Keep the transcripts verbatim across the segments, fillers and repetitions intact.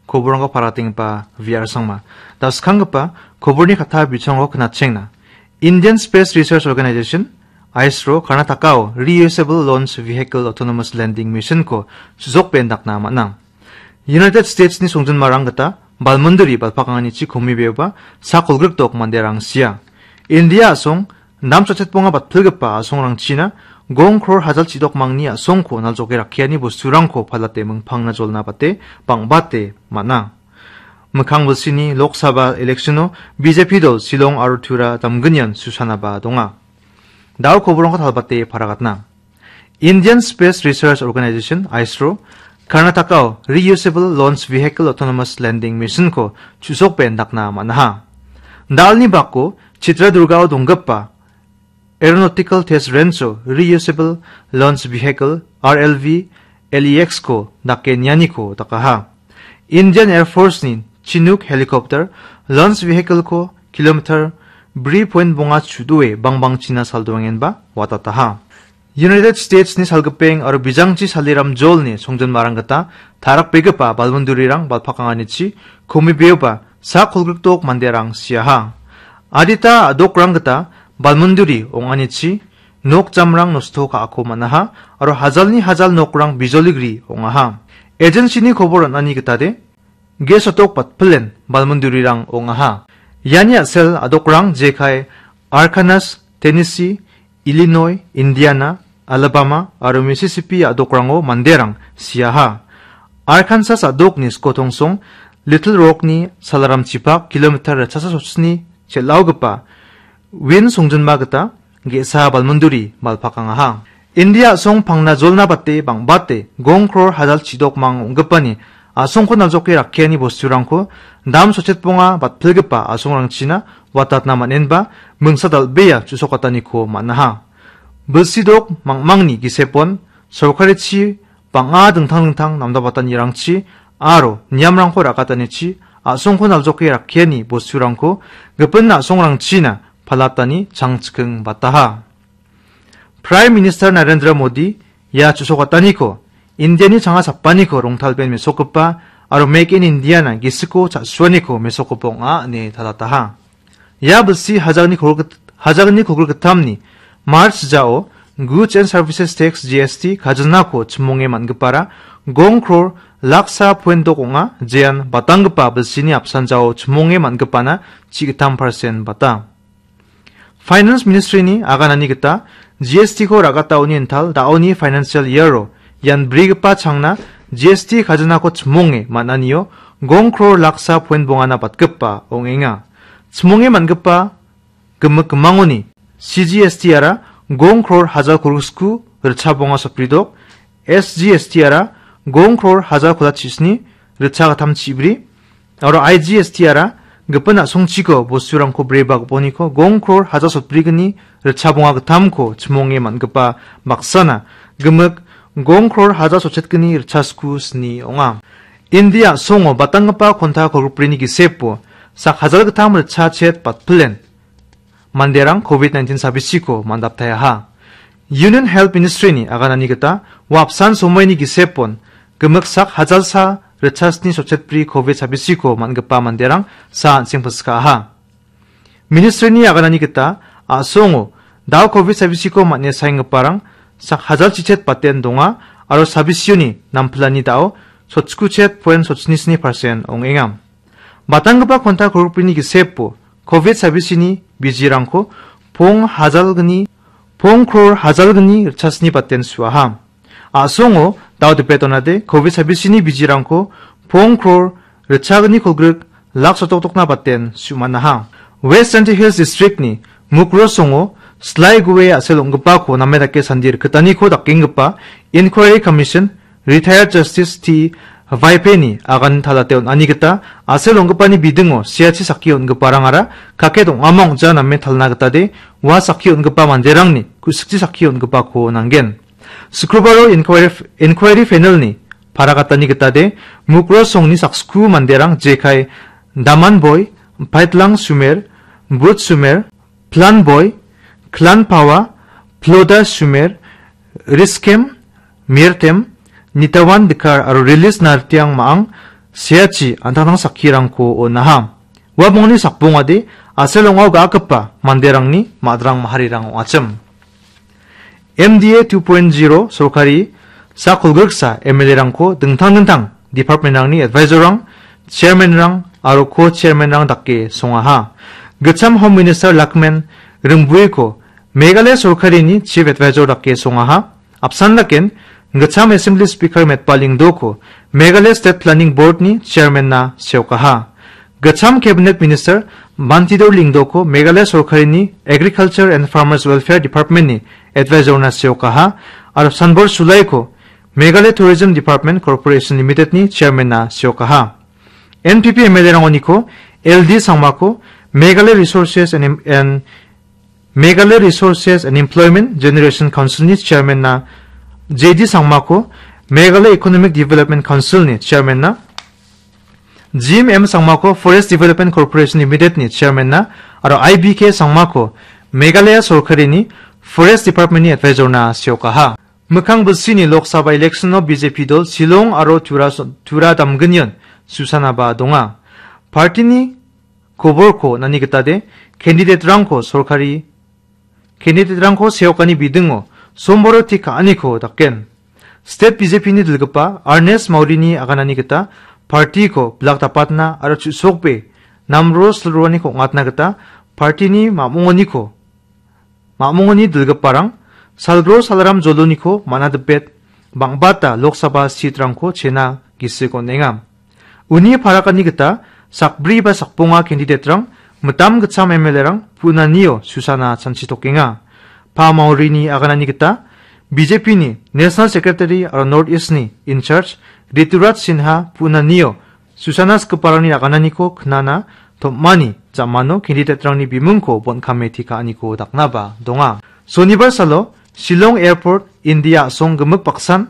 Koborangko paratenggipa V R Sangma. Da skanggipa koborni katta bichongo knatchengna. Indian Space Research Organization, isro, Karnatakao Reusable Launch Vehicle Autonomous Landing Mission-ko chusokbe indakna man·a. United States-ni songjinmarang gita balmonduri balpakanganichi komibeoba sak kolgrikdok manderang sia. India a·song namchotchetbonga batpilgipa a·songrangchina gong kror hajal chidokmangni a·songko naljoke rakkiani bosturangko palate mingpangna jolna bate bang·bate man·a. Mikkang bilsini Lok Sabha election-o B J P dol Shillong aro Tura damgnian susanaba donga. Dao koborongko talbate paragatna. Indian Space Research Organization, isro, Karnatakao Reusable Launch Vehicle Autonomous Landing Mission-ko chusokbe indakna man·aha. Dalni bako Chitradurgao donggipa Aeronautical Test Range-o Reusable Launch Vehicle, R L V, L E X-ko dake nianiko dakaha. Indian Air Force-ni Chinook helicopter launch vehicle-ko kilometer bri point bonga chudoe bangbangchina saldoengenba watataha. United States-ni salgipeng aro bijangchi saliram jolni songjinmarang gita tarakbegipa balmondurirang balpakanganichi komibeoba sak kolgrikdok manderang siaha. Adita a·dokrang gita balmonduri ong·anichi nok jamrang nosto ka·ako man·aha aro hajalni hajal nokrang bijoligri ong·aha. Agency-ni kobor on·ani gitade, ge sotok batpilen balmondurirang ong·aha. Iani a·sel a·dokrang jekai Arkansas, Tennessee, Illinois, Indiana, Alabama aro Mississippi a·dokrango manderang siaha. Arkansas a·dokni skotongsong Little Rock-ni salaramchipak kilometer ritchasa sotsni chel·aogipa Win songjinma gita ge·sa balmonduri balpakangaha. India a·song pangna jolna bate bang·bate gong kror hajal chidokmang ong·gipani a·songko naljoke rakkiani bosturangko dam sotchetbonga batpilgipa a·songrangchina watatna man·enba mingsa dal·bea chusokataniko man·aha. Bilsidok mangmangni gisepon sorkarichi bang·a dingtang dingtang namdabatanirangchi aro niamrangko ra·katanichi a·songko naljoke rakkiani bosturangko gipin a·songrangchina palatani changchiking bataha. Prime Minister Narendra Modi ia chusokataniko Indiani changa sapaniko rongtalben mesokgipa aro Make in Indiana gisiko cha·suaniko mesokgipa ong·a ine talataha. Ia bilsi hajagni kolgrik-, hajagni kolgrikgittamni March jao Goods and Services Tax, G S T, kajinako chimonge man·gipara gong kror laksa point dok ong·a, jean batanggipa bilsini apsan jao chimonge man·gipana chi·gittam persen bata. Finance Ministry-ni aganani gita G S T-ko ra·gataoni intal da·oni financial year-o ian brigipa changna G S T kajinako chimonge man·anio gong kror laksa point bongana batgipa ong·enga. Chimonge man·gipa gimik gimangoni C G S T-ara gong kror hajal kolgriksku ritchabonga sotbridok, S G S T-ara gong kror hajal kolgrik chisni ritchagittam chibri, aro I G S T-ara gipin a·songchiko bosturangko breba gipiniko gong kror hajal sotbrigni ritchabonga gittamko chimonge man·gipa baksana gimik gong kror hajal sotchetgni ritchasku sni ong·a. India a·songo batanggipa konta kolgrikbrini gisepo sak hajal gittam ritchachet batpilen manderang covid nineteen sabisiko mandaptaiaha. Union Health Ministry-ni aganani gita, ua apsan somoini gisepon gimik sak hajalsa ritchasni sotchetbri covid sabisiko man·gipa manderang sa an·seng pilsikaaha. Ministry-ni aganani gita, a·songo dao covid sabisiko man·e saenggiparang sak hajal chichet baten donga aro sabisioni nampilani dao sotchikuchet point sotchini sni persen ong·enga. Batanggipa konta kolgrikbrini gisepo covid sabisini bijirangko pong hajalgni, pong kror hajalgni ritchasni baten su·aha. A·songo dao dipe donade covid sabisini bijirangko pong kror ritchagni kolgrik lak sotokdokna baten su·manaha. West Jaintia Hills District-ni Mukroh songo slai gue a·sel ong·gipako name dake sandi rikgitaniko dakenggipa Inquiry Commission Retired Justice T Vaipeni agan talate on·ani gita a·sel ong·gipani bidingo siachi sakki on·giparangara kaket ong·ama ong·ja name talna gitade ua sakki on·gipa manderangni ku·sikchi sakki on·gipako nanggen. Sukrobaro inquiry, inquiry panel-ni paragatani gitade Mukroh songni saksku manderang jekai Daman Boi, Paitlang Sumer, Bud Sumer, Plan Boy, Clan Pawa, Ploda Sumer, Riskem, Mirtem, Nitawan Dikar aro Rilis Nartiang ma·ang seachi an·tangtang sakkirangko on·aha. Ua bongni sakbongade a·sel ong·ao ga·akgipa manderangni madrang maharirang ong·achim. M D A two point zero sorkari sak kolgriksa M L A-rangko dingtang dingtang department-rangni advisor-rang, chairman-rang aro co-chairman-rang dake songaha. Gitcham Home Minister Lakmen Ryngbuiko Meghalaya sorkarini chief advisor dake songaha. Apsan daken, Gitcham Assembly Speaker Metba Lyngdohko Meghalaya State Planning Board-ni chairman-na seokaha. Gitcham Cabinet Minister Bantidor Lyngdohko Meghalaya sorkarini Agriculture and Farmers Welfare Department-ni advisor-na seokaha, aro Sanbor Sulaiko Meghalaya Tourism Department Corporation Limited-ni chairman-na seokaha. N P P M L A-rangoniko L D Sangmako Meghalaya Resources and Em-, and Meghalaya Resources and Employment Generation Council-ni chairman-na, J D Sangmako Meghalaya Economic Development Council-ni chairman-na, Jim M Sangmako Forest Development Corporation Limited-ni chairman-na, aro I B K Sangmako Meghalaya sorkarini Forest Department-ni advisor-na seokaha. Mikkang bilsini Lok Sabha election-o B J P dol Shillong aro Tura, Tura damgnion susanaba donga. Party-ni koborko on·ani gitade, candidate-rangko sorkari, candidate-rangko seokani bidingo somboro tik ka·aniko daken. State B J P-ni dilgipa Ernest Maurini aganani gita party-ko bilak dapatna aro chu·sokbe namro silroaniko ong·atna gita party-ni mamongoniko, mamongoni dilgiparang Salgro Salaram Joloniko man·a dipet bang·bata Lok Sabha seat-rangko chena gisik on·enga. Uni parakani gita sakbri ba sakbonga candidate-rang mitam gitcham M L A-rang punanio susana chanchitokenga. Pa Maurini aganani gita B J P-ni National Secretary aro North East-ni in charge Rituraj Sinha punanio susana sikgiparangni agananiko knana tom·ani jamano candidate-rangni bimungko bon·kame teka·aniko daknaba donga. Sonibar salo Shillong Airport India a·song gimik baksan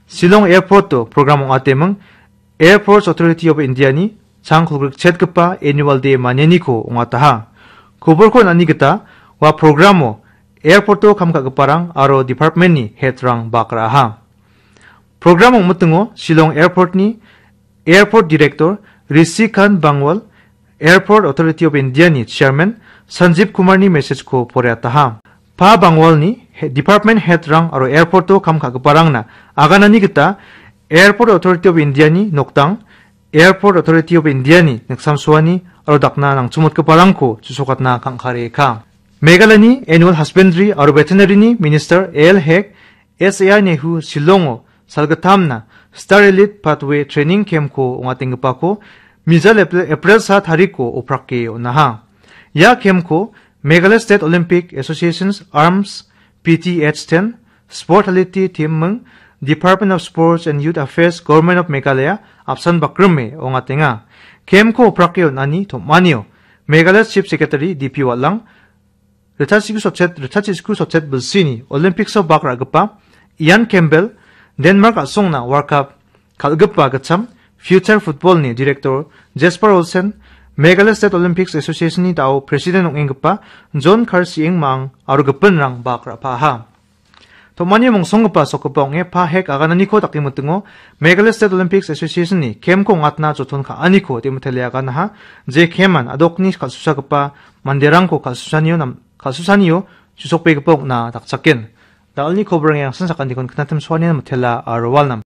Shillong Airport-o program ong·ateming Airports Authority of India-ni chang kolgrikchetgipa Annual Day manianiko ong·ataha. Koborko on·ani gita ua program-o airport-o kam ka·giparang aro department-ni head-rang bak ra·aha. Program ong·mitingo Shillong Airport-ni Airport Director Rishi Khan Bangwal, Airport Authority of India-ni Chairman Sanjeev Kumar-ni message-ko poraiataha. Pa Bangwal-ni he-, department head-rang aro airport-o kam ka·giparangna aganani gita Airport Authority of India-ni nokdang, Airport Authority of India-ni niksamsoani aro dakna nangchimotgiparangko chusokatna kang·kare ka. Meghalayani Animal Husbandry aro Veterinary-ni Minister A L Hek S A I Nehu Shillongo salgittamna Star Elite Pathway Training Camp-ko ong·atenggipako mijal Epre-, April sa tarikko oprake on·aha. Ia camp-ko Meghalaya State Olympic Association's Arms P T H ten, Sport Quality Team-ming, Department of Sports and Youth Affairs, Government of Meghalaya apsan bakrime ong·atenga. Camp-ko oprake on·ani tom·anio Meghalaya Chief Secretary D P Watlang, ritchasku sotchet, ritchasku sotchet bilsini Olympics-o bak ra·gipa Ian Campbell, Denmark a·songna World Cup kal·gipa gitcham Future Football-ni Director Jesper Olsen, Meghalaya State Olympics Association-ni dao President ong·enggipa John Karsieng Mang aro gipinrang bak ra·paha. Tom·ani mongsonggipa sokgipa ong·e Pa Hek agananiko dakemitingo Meghalaya State Olympics Association-ni camp-ko ong·atna joton ka·aniko de·mitele aganaha, je camp-an adokni kal·susagipa manderangko kal·susanio nam-, kal·susanio chusokbegipa ong·na dakchaken. Da·alni kobrang yangsan sakantikon knatim soanian mitela aro walnam.